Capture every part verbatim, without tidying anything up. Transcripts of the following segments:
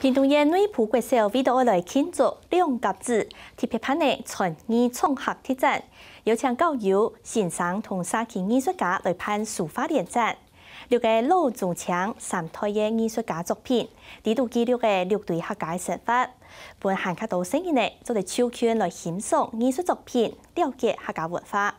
屏東縣內埔國小為著愛來慶祝兩甲子，特別辦理傳藝創客特展，邀請校友、先生同社區藝術家來辦書畫聯展。六个老中青三代个藝術家作品，在這記錄个六堆客家个生活，分還較多細人仔做得就近來欣賞藝術作品，了解客家文化。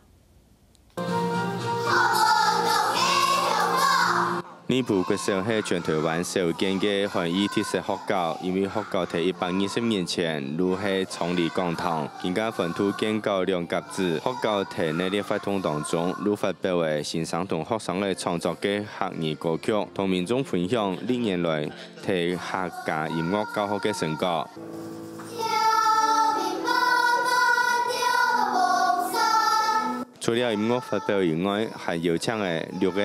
內埔國小係全臺灣少見个漢語特色學校，因為學校在一百二十年前就係昌黎講堂，今下歡度建校兩甲子，學校在熱烈活動當中，就發表了先生同學生仔創作个客語歌曲，同民眾分享歷年來在客家音樂教學个成果。 除了音樂發表以外，還邀請了六个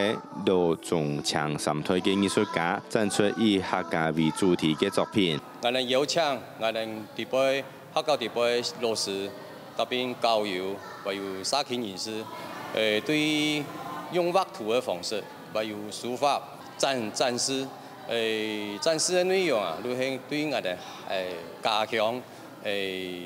老中青三代个藝術家展出以客家為主題个作品。𠊎等邀請𠊎等這輩客家這輩老師，特別校友，還有社區人士，誒，對用畫圖个方式，還有書法展展示，誒，展示个內容啊，就係對𠊎等誒家鄉誒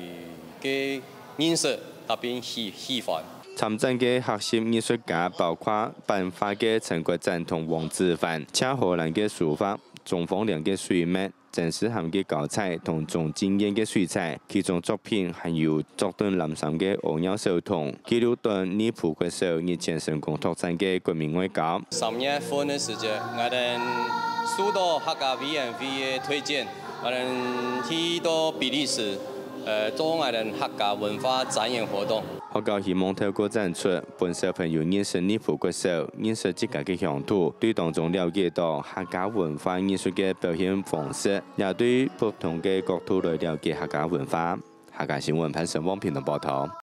个認識，特別喜喜歡。 參展个學習藝術家包括版畫个陳國展同黃子凡、赤荷蘭个書法、鍾芳良个水墨、曾詩涵个膠彩同鍾靜燕个水彩，其中作品還有著等藍衫个屙尿小童，記錄等內埔國小日前成功脫戰个國民外交。三月份个時節，𠊎等受到客家委員會个推薦，𠊎等去到比利時，呃，做𠊎等客家文化展演活動。 學校希望透過展出，分小朋友認識內埔國小，認識自家个鄉土，對當中了解到客家文化藝術个表現方式，也對不同个角度來了解客家文化。客家新聞潘成旺屏東報導。